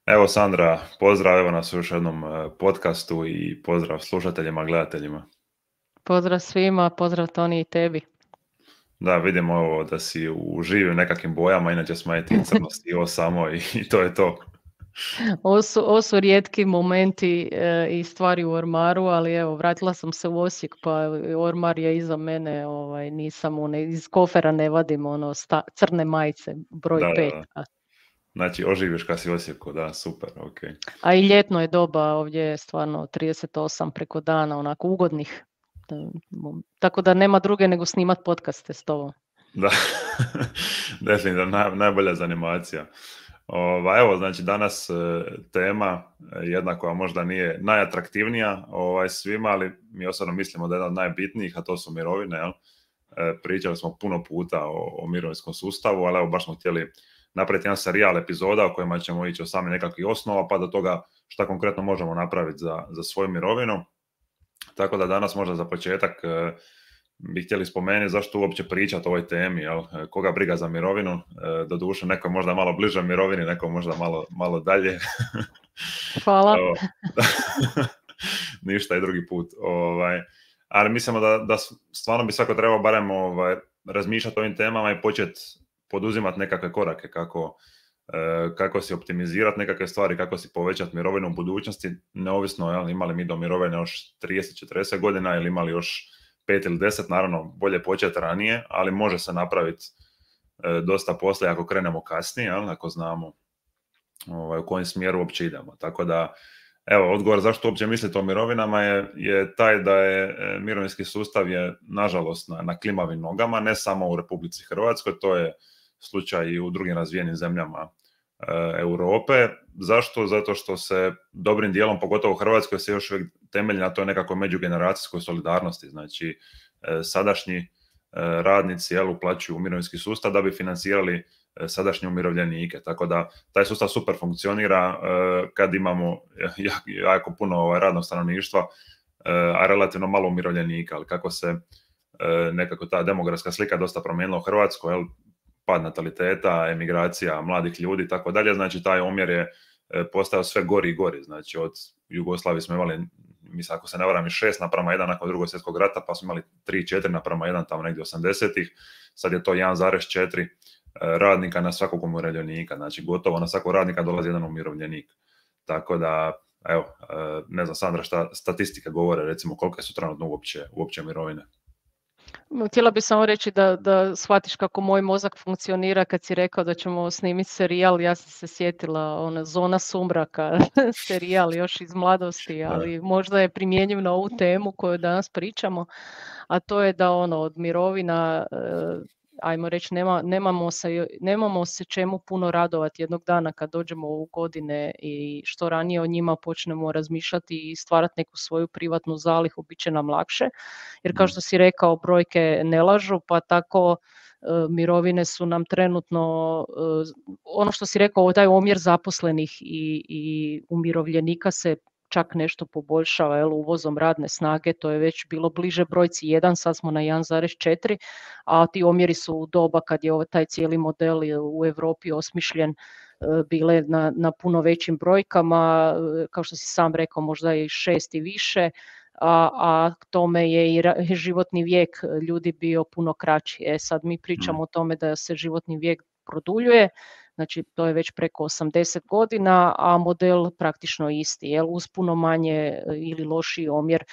Evo Sandra, pozdrav evo nas u još jednom podcastu i pozdrav slušateljima, gledateljima. Pozdrav svima, pozdrav Toni i tebi. Da, vidimo ovo da si u živim nekakvim bojama, inače smo ti crno sivo samo i to je to. Ovo su rijetki momenti i stvari u ormaru, ali evo, vratila sam se u Osijek, pa ormar je iza mene, nisam iz kofera ne vadim crne majice, broj 5. Da. Znači, oživiš kad si u Osijeku, da, super, ok. A i ljetno je doba, ovdje je stvarno 38 preko dana, onako ugodnih. Tako da nema druge nego snimat podcaste s tobom. Da, definitivno najbolja zanimacija. Evo, znači danas tema jedna koja možda nije najatraktivnija svima, ali mi osobno mislimo da je jedna od najbitnijih, a to su mirovine. Jel? Pričali smo puno puta o mirovinskom sustavu, ali evo baš smo htjeli napraviti jedan serijal epizoda u kojima ćemo ići od same nekakvih osnova pa do toga šta konkretno možemo napraviti za svoju mirovinu. Tako da danas možda za početak bi htjeli spomenuti zašto uopće pričati o ovoj temi, jel? Koga briga za mirovinu, doduše neko je možda malo bliže mirovini, neko možda malo dalje. Hvala. Ništa i drugi put. Ali mislimo da stvarno bi svako trebao barem razmišljati o ovim temama i početi poduzimati nekakve korake kako si optimizirati nekakve stvari, kako si povećati mirovinu u budućnosti, neovisno jel, imali mi do mirovine još 30-40 godina ili imali još 5 ili 10, naravno bolje početi ranije, ali može se napraviti dosta posla ako krenemo kasnije, jel, ako znamo u kojem smjeru uopće idemo. Tako da, evo, odgovor zašto uopće mislite o mirovinama je taj da je mirovinski sustav je nažalost na klimavim nogama, ne samo u Republici Hrvatskoj, to je slučaj i u drugim razvijenim zemljama Europe. Zašto? Zato što se dobrim dijelom, pogotovo u Hrvatskoj, se još uvijek temelji na toj nekakvoj međugeneracijskoj solidarnosti. Znači, sadašnji radnici uplaćuju u mirovinski sustav da bi financirali sadašnje umirovljenike. Tako da taj sustav super funkcionira kad imamo jako puno radnog stanovništva, a relativno malo umirovljenika. Ali kako se nekako ta demografska slika dosta promijenila u Hrvatskoj, pad nataliteta, emigracija mladih ljudi i tako dalje, znači taj omjer je postao sve gori i gori. Znači od Jugoslavije smo imali, mislim ako se ne varam, 6:1 nakon Drugog svjetskog rata, pa smo imali 3-4:1 tamo negdje 80-ih, sad je to 1,4 radnika na svakog umirovljenika, znači gotovo na svakog radnika dolazi jedan umirovljenik. Tako da, evo, ne znam Sandra šta statistike govore, recimo koliko su trenutno uopće mirovine. Htjela bih samo reći da shvatiš kako moj mozak funkcionira kad si rekao da ćemo snimiti serijal. Ja sam se sjetila Zona sumraka, serijal još iz mladosti, ali možda je primjenjiv na ovu temu koju danas pričamo, a to je da od mirovina, ajmo reći, nemamo se čemu puno radovati jednog dana kad dođemo u godine i što ranije o njima počnemo razmišljati i stvarati neku svoju privatnu zalihu, bit će nam lakše. Jer kao što si rekao, brojke ne lažu, pa tako mirovine su nam trenutno, ono što si rekao, taj omjer zaposlenih i umirovljenika se čak nešto poboljšava uvozom radne snage, to je već bilo bliže brojci 1, sad smo na 1,4, a ti omjeri su u doba kad je taj cijeli model u Europi osmišljen bile na puno većim brojkama, kao što si sam rekao, možda i 6 i više, a k tome je i životni vijek ljudi bio puno kraći. Sad mi pričamo o tome da se životni vijek produljuje, znači to je već preko 80 godina, a model praktično isti, uz puno manje ili lošiji omjer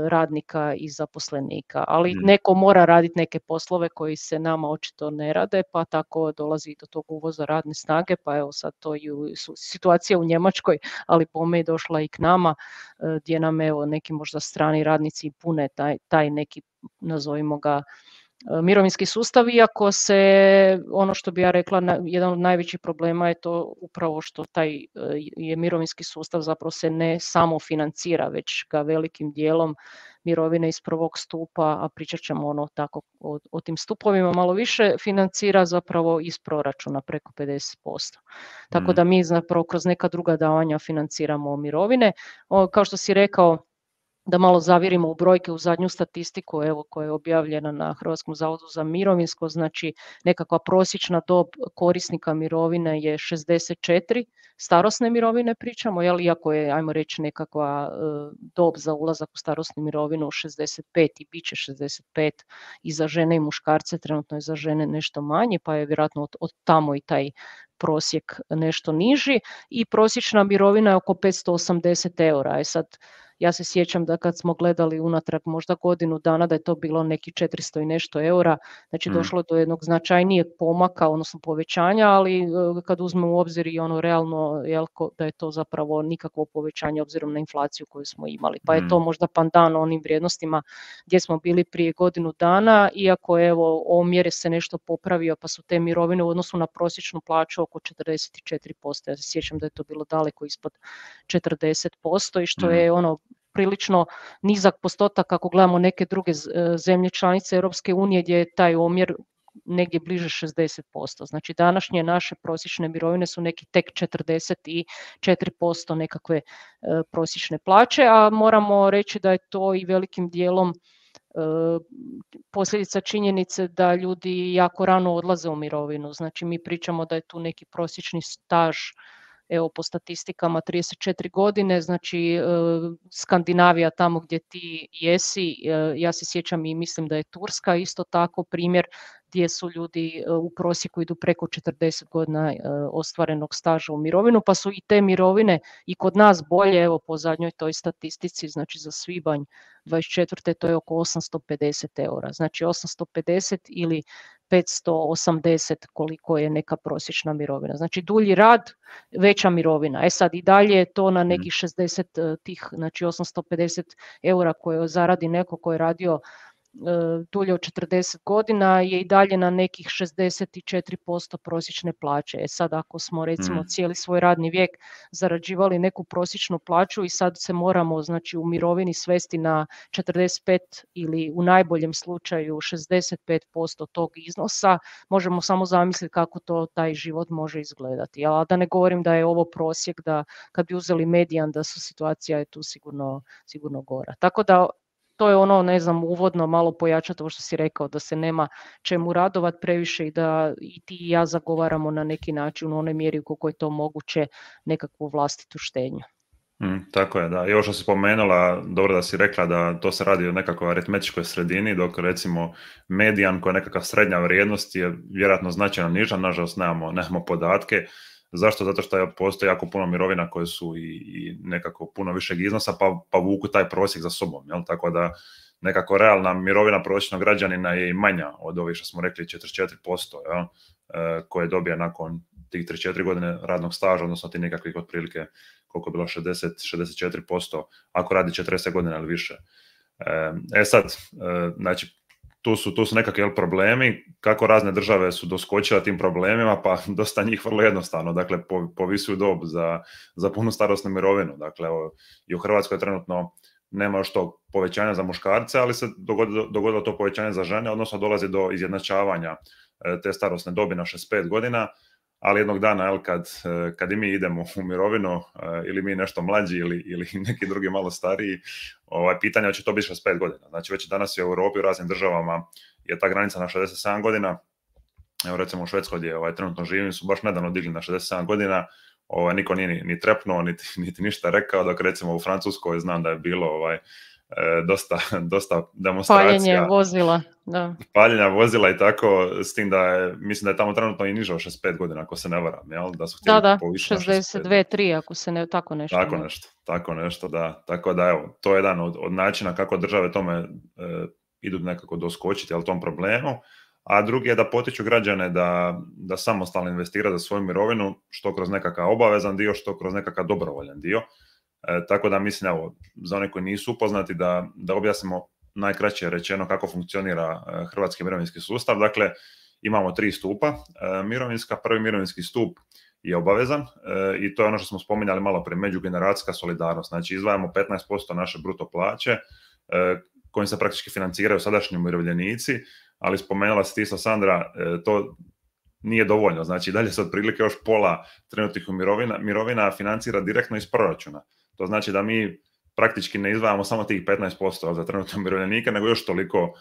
radnika i zaposlenika. Ali neko mora raditi neke poslove koji se nama očito ne rade, pa tako dolazi do tog uvoza radne snage, pa evo sad to je situacija u Njemačkoj, ali pome je došla i k nama, gdje nam evo neki možda strani radnici pune taj neki, nazovimo ga, mirovinski sustav, iako se, ono što bi ja rekla, jedan od najvećih problema je to upravo što taj je mirovinski sustav zapravo se ne samo financira, već ga velikim dijelom mirovine iz prvog stupa, a pričat ćemo tako o tim stupovima malo više, financira zapravo iz proračuna preko 50%. Tako da mi zapravo kroz neka druga davanja financiramo mirovine. Kao što si rekao, da malo zavirimo u brojke, u zadnju statistiku evo, koja je objavljena na Hrvatskom zavodu za mirovinsko, znači nekakva prosječna dob korisnika mirovine je 64, starosne mirovine pričamo, jel, iako je, ajmo reći, nekakva dob za ulazak u starosnu mirovinu 65 i bit će 65 i za žene i muškarce, trenutno je za žene nešto manje, pa je vjerojatno od tamo i taj prosjek nešto niži i prosječna mirovina je oko 580 eura. Sad, ja se sjećam da kad smo gledali unatrag možda godinu dana da je to bilo neki 400 i nešto eura, znači došlo do jednog značajnijeg pomaka, odnosno povećanja, ali kad uzmemo u obzir i ono realno da je to zapravo nikakvo povećanje obzirom na inflaciju koju smo imali. Pa je to možda pandan onim vrijednostima gdje smo bili prije godinu dana, iako evo omjer se nešto popravio pa su te mirovine u odnosu na prosječnu plaću oko 44%. Ja se sjećam da je to bilo daleko ispod 40% i što je ono prilično nizak postotak ako gledamo neke druge zemlje članice Europske unije gdje je taj omjer negdje bliže 60%. Znači današnje naše prosječne mirovine su neki tek 44% nekakve prosječne plaće, a moramo reći da je to i velikim dijelom posljedica činjenice da ljudi jako rano odlaze u mirovinu. Znači mi pričamo da je tu neki prosječni staž, evo po statistikama 34 godine, znači Skandinavija tamo gdje ti jesi, ja se sjećam i mislim da je Turska isto tako primjer gdje su ljudi u prosjeku idu preko 40 godina ostvarenog staža u mirovinu, pa su i te mirovine i kod nas bolje, evo po zadnjoj toj statistici, znači za svibanj 24. to je oko 850 eura, znači 850 ili 580 koliko je neka prosječna mirovina. Znači dulji rad, veća mirovina. Sad i dalje je to na nekih 60 tih, znači 850 eura koje zaradi neko ko je radio dulje od 40 godina je i dalje na nekih 64% prosječne plaće. Sad ako smo recimo cijeli svoj radni vijek zarađivali neku prosječnu plaću i sad se moramo znači u mirovini svesti na 45 ili u najboljem slučaju 65% tog iznosa, možemo samo zamisliti kako to taj život može izgledati. A da ne govorim da je ovo prosjek, da kad bi uzeli medijan da su situacija je tu sigurno gora. Tako da to je ono, ne znam, uvodno malo pojačati ovo što si rekao, da se nema čemu radovati previše i da i ti i ja zagovaramo na neki način u onoj mjeri koliko je to moguće nekakvu vlastitu štednju. Tako je, da. I ovo što si spomenula, dobro da si rekla da to se radi o nekakvoj aritmetičkoj sredini, dok recimo medijan koja je nekakva srednja vrijednost je vjerojatno značajno niža, nažalost nemamo podatke. Zašto? Zato što postoji jako puno mirovina koje su i nekako puno višeg iznosa pa vuku taj prosjek za sobom. Jel? Tako da nekako realna mirovina prosječnog građanina je i manja od ovih što smo rekli 44%, jel? Koje dobije nakon tih 3-4 godine radnog staža, odnosno ti nekakvih otprilike koliko je bilo 60-64% ako radi 40 godina ili više. Sad, znači tu su nekakvi problemi, kako razne države su doskočile tim problemima, pa dosta njih vrlo jednostavno, dakle povisuju dob za punu starosnu mirovinu. Dakle, i u Hrvatskoj trenutno nema još tog povećanja za muškarce, ali se dogodilo to povećanje za žene, odnosno dolazi do izjednačavanja te starosne dobi na 65 godina, ali jednog dana kad i mi idemo u mirovinu ili mi nešto mlađi ili neki drugi malo stariji, pitanje će to biti 65 godina. Znači već danas je u Europi u raznim državama je ta granica na 67 godina. Evo recimo u Švedskoj gdje trenutno živim su baš nedavno digli na 67 godina. Niko nije ni trepnuo, niti ništa rekao, dok recimo u Francuskoj znam da je bilo dosta demonstracija. Paljenje vozila, da. Paljenja vozila i tako, s tim da mislim da je tamo trenutno i niže od 65 godina, ako se ne varam, jel? Da su htjeli povisiti na 62-3, ako se ne, tako nešto. Tako nešto, da. Tako da, evo, to je jedan od načina kako države tome idu nekako doskočiti, ali tom problemu. A drugi je da potiču građane da samostalno investiraju za svoju mirovinu, što kroz nekakav obavezan dio, što kroz nekakav dobrovoljan dio. Tako da mislim, evo, za one koji nisu upoznati, da objasnimo najkraće rečeno kako funkcionira hrvatski mirovinski sustav. Dakle, imamo 3 stupa mirovinska. Prvi mirovinski stup je obavezan i to je ono što smo spominjali malo prije, međugeneracijska solidarnost. Znači, izdvajamo 15% naše bruto plaće kojim se praktički financiraju sadašnji umirovljenici, ali spomenula si ti isto, Sandra, to nije dovoljno. Znači, dalje se otprilike još pola trenutnih mirovina financira direktno iz proračuna. To znači da mi praktički ne izdvajamo samo tih 15% za trenutno umirovljenike, nego još toliko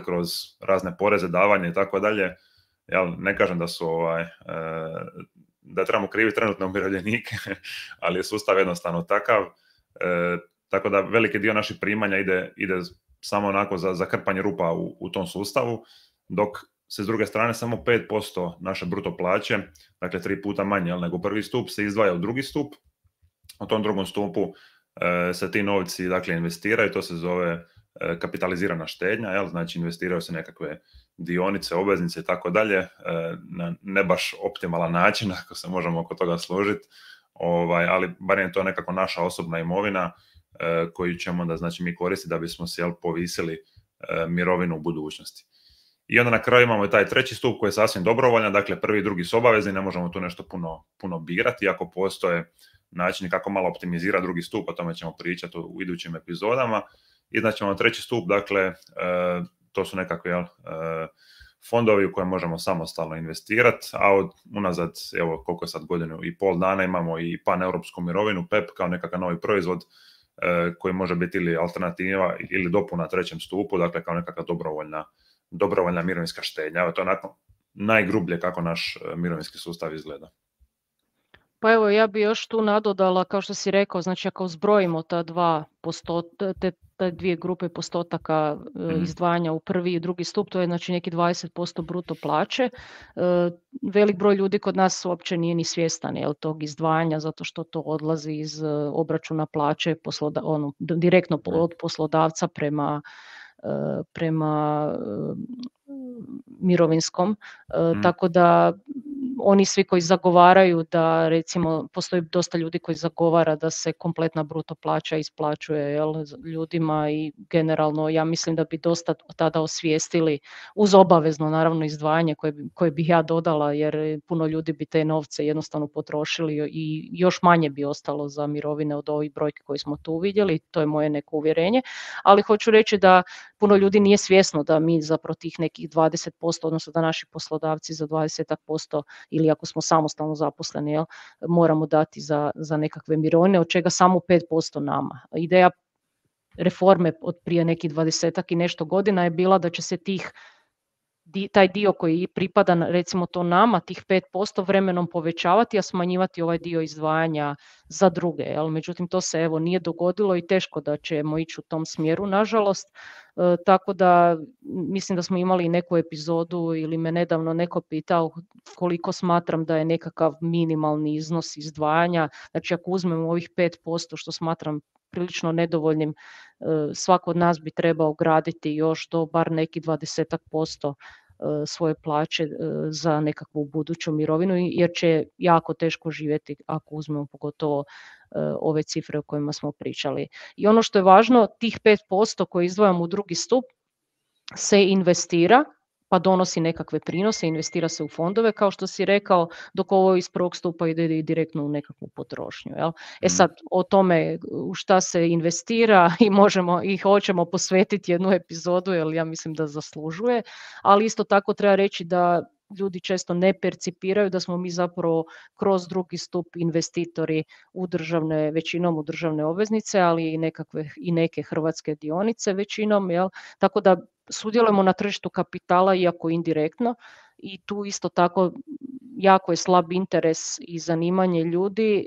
kroz razne poreze, davanje i tako dalje. Ne kažem da su da trebamo kriviti trenutno umirovljenike, ali je sustav jednostavno takav. Tako da veliki dio naših primanja ide samo onako za krpanje rupa u tom sustavu, dok se s druge strane samo 5% naše bruto plaće, dakle 3 puta manje nego prvi stup, se izdvaja u drugi stup. U tom drugom stupu se ti novci dakle investiraju, to se zove kapitalizirana štednja, znači investiraju se nekakve dionice, obveznice i tako dalje, na ne baš optimalan način, ako se možemo oko toga složiti, ali barem je to nekako naša osobna imovina koju ćemo da znači mi koristiti da bismo se povisili mirovinu u budućnosti. I onda na kraju imamo i taj treći stup koji je sasvim dobrovoljan, dakle prvi i drugi su obavezni, ne možemo tu nešto puno birati, iako postoje načini kako malo optimizirati drugi stup, o tome ćemo pričati u idućim epizodama. I znači imamo treći stup, dakle to su nekakve fondovi u koje možemo samostalno investirati, a unazad, evo koliko je sad godinu i pol dana, imamo i paneuropsku mirovinu, PEP, kao nekakav novi proizvod koji može biti ili alternativa ili dopuna trećem stupu, dakle kao nekakva dobrovoljna mirovinska štednja. Evo, to je onako najgrublje kako naš mirovinski sustav izgleda. Pa evo, ja bi još tu nadodala, kao što si rekao, znači ako zbrojimo te dvije grupe postotaka izdvajanja u prvi i drugi stup, to je znači neki 20% bruto plaće. Velik broj ljudi kod nas uopće nije ni svjestan tog izdvajanja, zato što to odlazi iz obračuna plaće direktno od poslodavca prema mirovinskom, tako da oni svi koji zagovaraju da, recimo, postoji dosta ljudi koji zagovara da se kompletna bruto plaća isplaćuje ljudima i generalno ja mislim da bi dosta tada osvijestili uz obavezno naravno izdvajanje koje bih ja dodala, jer puno ljudi bi te novce jednostavno potrošili i još manje bi ostalo za mirovine od ovih brojki koje smo tu vidjeli, to je moje neko uvjerenje, ali hoću reći da puno ljudi nije svjesno da mi zapravo tih nekih 20%, odnosno da naši poslodavci za 20% ili ako smo samostalno zaposleni, moramo dati za nekakve mirovine, od čega samo 5% nama. Ideja reforme od prije nekih 20 i nešto godina je bila da će se taj dio koji pripada recimo to nama, tih 5% vremenom povećavati, a smanjivati ovaj dio izdvajanja za druge. Međutim, to se nije dogodilo i teško da ćemo ići u tom smjeru, nažalost. Tako da mislim da smo imali neku epizodu ili me nedavno neko pitao koliko smatram da je nekakav minimalni iznos izdvajanja. Znači ako uzmemo ovih 5% što smatram prilično nedovoljnim, svako od nas bi trebao graditi još do bar neki 20% svoje plaće za nekakvu buduću mirovinu, jer će jako teško živjeti ako uzmemo pogotovo ove cifre o kojima smo pričali. I ono što je važno, tih 5% koje izdvajamo u drugi stup se investira, pa donosi nekakve prinose, investira se u fondove, kao što si rekao, dok ovo iz prvog stupa ide direktno u nekakvu potrošnju. Sad, o tome u šta se investira i hoćemo posvetiti jednu epizodu, jer ja mislim da zaslužuje, ali isto tako treba reći da ljudi često ne percipiraju da smo mi zapravo kroz drugi stup investitori većinom u državne obveznice, ali i neke hrvatske dionice većinom, tako da sudjelujemo na tržištu kapitala iako indirektno i tu isto tako jako je slab interes i zanimanje ljudi,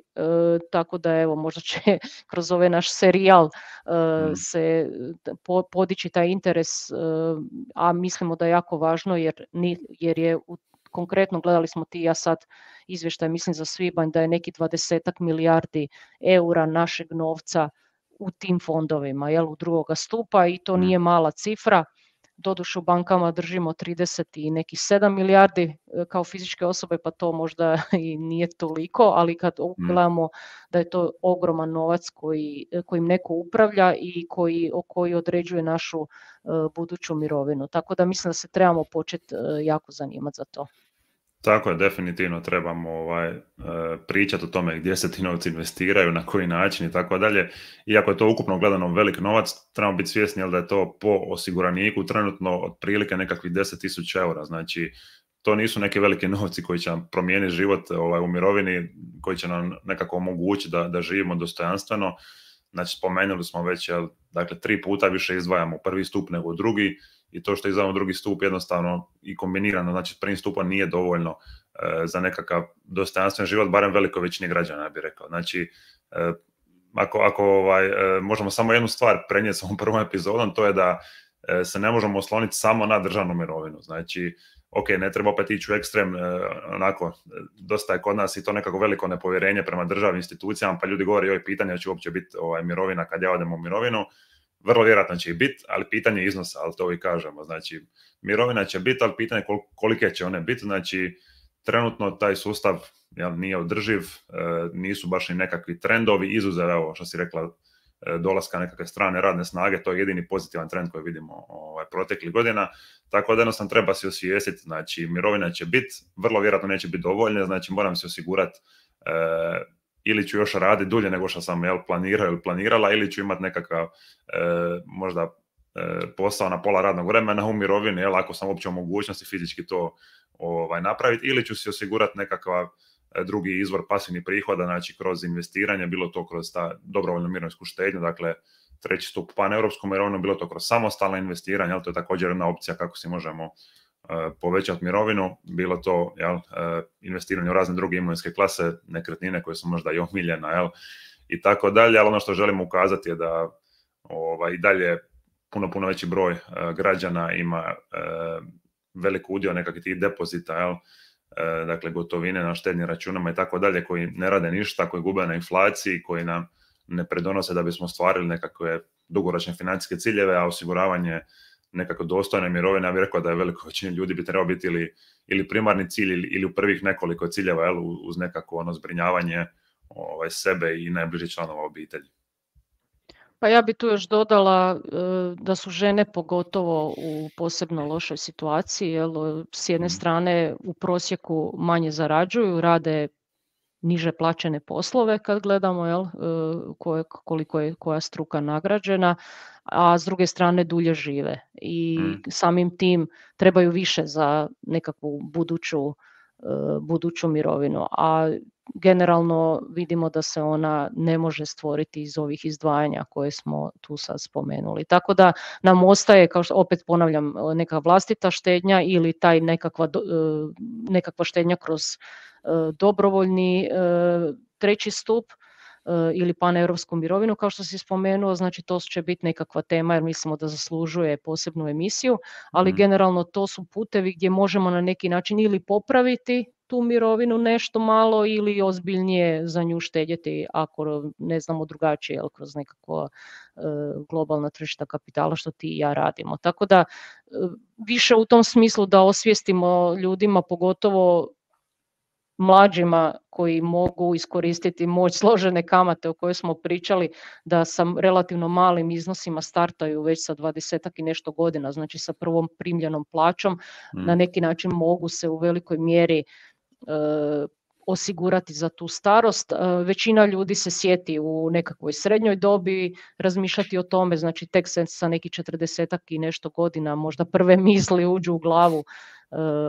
tako da evo možda će kroz ovaj naš serijal se podići taj interes, a mislimo da je jako važno jer je konkretno gledali smo ti ja sad izvještaj, mislim za svibanj da je neki 20 milijardi eura našeg novca u tim fondovima, u drugoga stupa i to nije mala cifra. Doduše u bankama držimo 30 i nekih 7 milijardi kao fizičke osobe, pa to možda i nije toliko, ali kad gledamo da je to ogroman novac kojim neko upravlja i koji određuje našu buduću mirovinu. Tako da mislim da se trebamo početi jako zanimati za to. Tako je, definitivno trebamo pričati o tome gdje se ti novci investiraju, na koji način i tako dalje. Iako je to ukupno gledano velik novac, trebamo biti svjesni da je to po osiguraniku trenutno otprilike nekakvih 10.000 eura. Znači, to nisu neki veliki novci koji će nam promijeniti život u mirovini, koji će nam nekako omogućiti da živimo dostojanstveno. znači spomenuli smo već, dakle 3 puta više izdvajamo u prvi stup nego u drugi, i to što izdvajamo u drugi stup jednostavno i kombinirano, znači s prvim stupom nije dovoljno za nekakav dostojanstven život, barem velikoj većini građana, ja bih rekao. Znači, ako možemo samo jednu stvar prenijeti s ovom prvom epizodom, to je da se ne možemo osloniti samo na državnu mirovinu. Znači, ok, ne treba opet ići u ekstrem, onako, dosta je kod nas i to nekako veliko nepovjerenje prema državnim institucijama, pa ljudi govore, joj, pitanje će uopće biti mirovina kad ja odem u mirovinu. Vrlo vjerojatno će i biti, ali pitanje iznosa, ali to i kažemo. Znači, mirovina će biti, ali pitanje kolike će one biti. Znači, trenutno taj sustav nije održiv, nisu baš ni nekakvi trendovi, izuzev, evo što si rekla, dolaska nekakve strane radne snage, to je jedini pozitivan trend koji vidimo proteklih godina, tako da jednostavno treba se osvijestiti, znači mirovina će biti, vrlo vjerojatno neće biti dovoljne, znači moram se osigurati ili ću još raditi dulje nego što sam planirao ili planirala, ili ću imati nekakav možda posao na pola radnog vremena u mirovini, ako sam uopće u mogućnosti fizički to napraviti, ili ću si osigurati nekakav drugi izvor pasivnih prihoda, znači kroz investiranje, bilo to kroz ta dobrovoljnu mirovinsku štednju, dakle treći stup paneuropsku mirovinu, bilo to kroz samostalno investiranje, ali to je također jedna opcija kako si možemo povećati mirovinu, bilo to investiranje u razne druge imovinske klase, nekretnine koje su možda i omiljena, i tako dalje, ali ono što želimo ukazati je da i dalje puno veći broj građana ima velik udio nekakvih tih depozita, dakle gotovine na štednim računama i tako dalje, koji ne rade ništa, koji gube na inflaciji, koji nam ne pridonose da bismo ostvarili nekakve dugoročne financijske ciljeve, a osiguravanje nekako dostojne mirovine, ja bih rekao da je veliko većini ljudi bi trebao biti ili primarni cilj ili u prvih nekoliko ciljeva, uz nekako zbrinjavanje sebe i najbližih članova obitelji. Pa ja bi tu još dodala da su žene pogotovo u posebno lošoj situaciji, jer s jedne strane u prosjeku manje zarađuju, rade niže plaćene poslove kad gledamo koliko je koja struka nagrađena, a s druge strane dulje žive i samim tim trebaju više za nekakvu buduću mirovinu, a generalno vidimo da se ona ne može stvoriti iz ovih izdvajanja koje smo tu sad spomenuli. Tako da nam ostaje, kao što opet ponavljam, neka vlastita štednja ili taj nekakva štednja kroz dobrovoljni treći stup ili paneuropsku mirovinu, kao što si spomenuo, znači to će biti nekakva tema jer mislimo da zaslužuje posebnu emisiju, ali generalno to su putevi gdje možemo na neki način ili popraviti tu mirovinu nešto malo ili ozbiljnije za nju štedjeti ako ne znamo drugačije, kroz nekakva globalna tržišta kapitala što ti i ja radimo. Tako da više u tom smislu da osvijestimo ljudima, pogotovo mlađima koji mogu iskoristiti moć složene kamate o kojoj smo pričali, da sa relativno malim iznosima startaju već sa 20-ak i nešto godina, znači sa prvom primljenom plaćom, na neki način mogu se u velikoj mjeri osigurati za tu starost. Većina ljudi se sjeti u nekakvoj srednjoj dobi razmišljati o tome, znači tek se sa nekih 40-ak i nešto godina možda prve misli uđu u glavu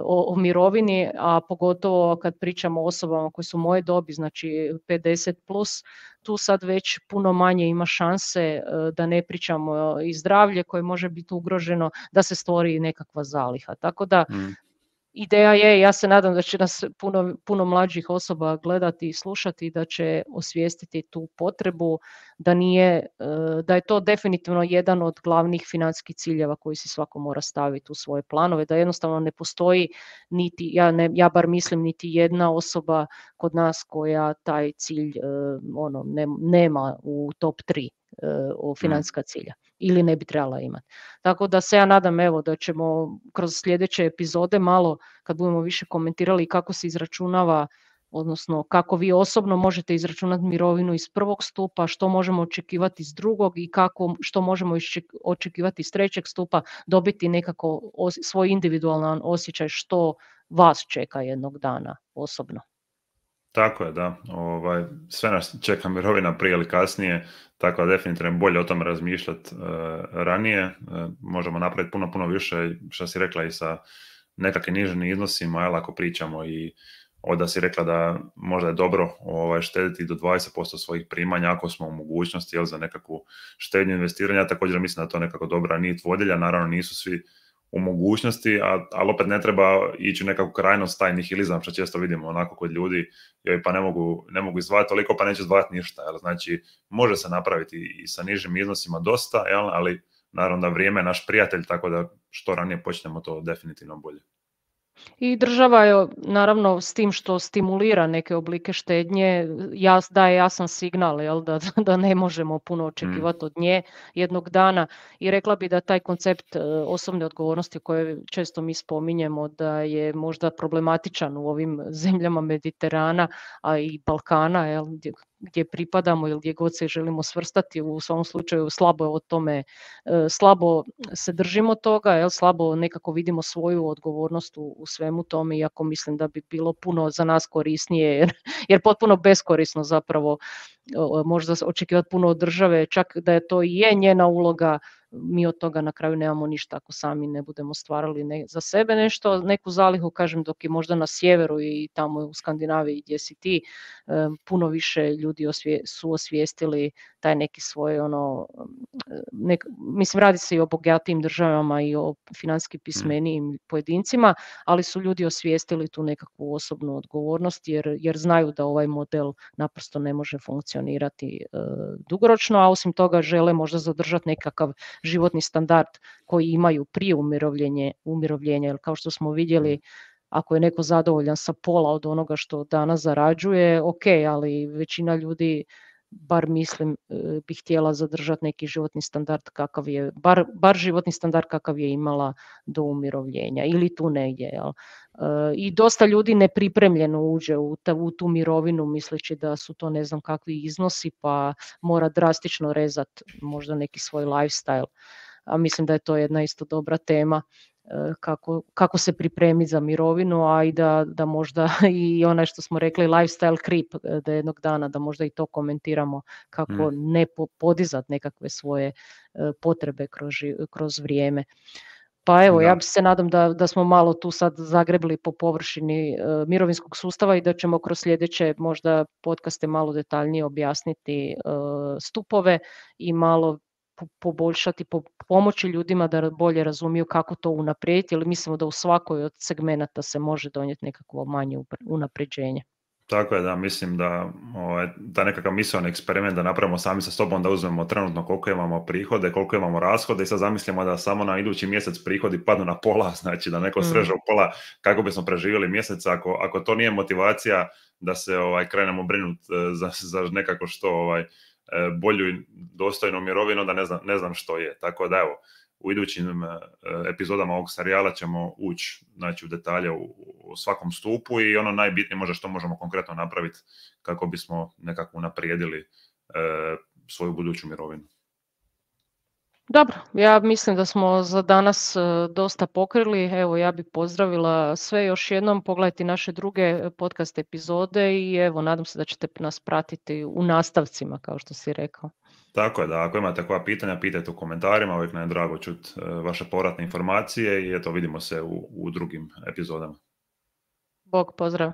o mirovini, a pogotovo kad pričamo o osobama koje su moje dobi, znači 50 plus, tu sad već puno manje ima šanse, da ne pričamo i zdravlje koje može biti ugroženo, da se stvori nekakva zaliha. Tako da ideja je, ja se nadam da će nas puno mlađih osoba gledati i slušati, da će osvijestiti tu potrebu, da je to definitivno jedan od glavnih financijskih ciljeva koji si svako mora staviti u svoje planove, da jednostavno ne postoji ja bar mislim niti jedna osoba kod nas koja taj cilj nema u top 3 financijska cilja ili ne bi trebala imati. Tako da se ja nadam da ćemo kroz sljedeće epizode malo, kad budemo više komentirali kako se izračunava, odnosno kako vi osobno možete izračunati mirovinu iz prvog stupa, što možemo očekivati iz drugog i što možemo očekivati iz trećeg stupa, dobiti nekako svoj individualan osjećaj što vas čeka jednog dana osobno. Tako je, da. Sve nas čeka mirovina prije ili kasnije, tako da definitivno bolje o tome razmišljati ranije. Možemo napraviti puno više, što si rekla, i sa nekakvim nižim iznosima, ako pričamo i da si rekla da možda je dobro štediti do 20% svojih primanja ako smo u mogućnosti za nekakvu štednju investiranja. Također mislim da to nekako dobra nit vodilja, naravno nisu svi u mogućnosti, ali opet ne treba ići u nekakvu krajnost taj nihilizam što često vidimo onako kod ljudi, joj pa ne mogu izdvajati toliko pa neće izdvajati ništa. Znači može se napraviti i sa nižim iznosima dosta, ali naravno da vrijeme je naš prijatelj, tako da što ranije počnemo to definitivno bolje. I država je naravno s tim što stimulira neke oblike štednje, daje jasan signal da ne možemo puno očekivati od nje jednog dana i rekla bi da taj koncept osobne odgovornosti koje često mi spominjemo da je možda problematičan u ovim zemljama Mediterana, a i Balkana, gdje pripadamo ili gdje god se želimo svrstati, u svom slučaju slabo se držimo toga, slabo nekako vidimo svoju odgovornost u svemu tome, iako mislim da bi bilo puno za nas korisnije, jer potpuno beskorisno zapravo možda očekivati puno od države, čak da je to i je njena uloga, mi od toga na kraju nemamo ništa ako sami ne budemo stvarali za sebe nešto, neku zalihu, kažem, dok je možda na sjeveru i tamo u Skandinaviji gdje si ti, puno više ljudi su osvijestili taj neki svoj mislim radi se i o bogatijim državama i o financijski pismenijim pojedincima, ali su ljudi osvijestili tu nekakvu osobnu odgovornost jer znaju da ovaj model naprosto ne može funkcionirati dugoročno, a osim toga žele možda zadržati nekakav životni standard koji imaju prije umirovljenja, jer kao što smo vidjeli, ako je neko zadovoljan sa pola od onoga što danas zarađuje, ok, ali većina ljudi, bar mislim, bi htjela zadržati neki životni standard kakav je, bar životni standard kakav je imala do umirovljenja ili tu negdje. I dosta ljudi nepripremljeno uđe u tu mirovinu misleći da su to ne znam kakvi iznosi pa mora drastično rezati možda neki svoj lifestyle. A mislim da je to jedna isto dobra tema kako se pripremiti za mirovinu, a i da možda i onaj što smo rekli lifestyle creep, da jednog dana da možda i to komentiramo kako ne podizati nekakve svoje potrebe kroz vrijeme. Pa evo, ja se nadam da smo malo tu sad zagrebli po površini mirovinskog sustava i da ćemo kroz sljedeće možda podcaste malo detaljnije objasniti stupove i malo poboljšati, pomoći ljudima da bolje razumiju kako to unaprijediti, jer mislimo da u svakoj od segmenata se može donijeti nekakvo manje unapređenje. Tako je, da, mislim da nekakav misaoni eksperiment da napravimo sami sa sobom, da uzmemo trenutno koliko imamo prihode, koliko imamo rashode i sad zamislimo da samo na idući mjesec prihodi padnu na pola, znači da neko sreže u pola kako bismo preživjeli mjesec, ako to nije motivacija da se krenemo brinuti za nekako što bolju i dostojnu mirovinu, da ne znam što je. Tako da evo, u idućim epizodama ovog serijala ćemo ući u detalje u svakom stupu i ono najbitnije možda što možemo konkretno napraviti kako bismo nekako unaprijedili svoju buduću mirovinu. Dobro, ja mislim da smo za danas dosta pokrili. Evo, ja bih pozdravila sve još jednom. Pogledajte naše druge podcast epizode i evo, nadam se da ćete nas pratiti u nastavcima, kao što si rekao. Tako je, da ako imate koja pitanja, pitajte u komentarima, uvijek nam je drago čuti vaše povratne informacije i eto, vidimo se u drugim epizodama. Bog, pozdrav.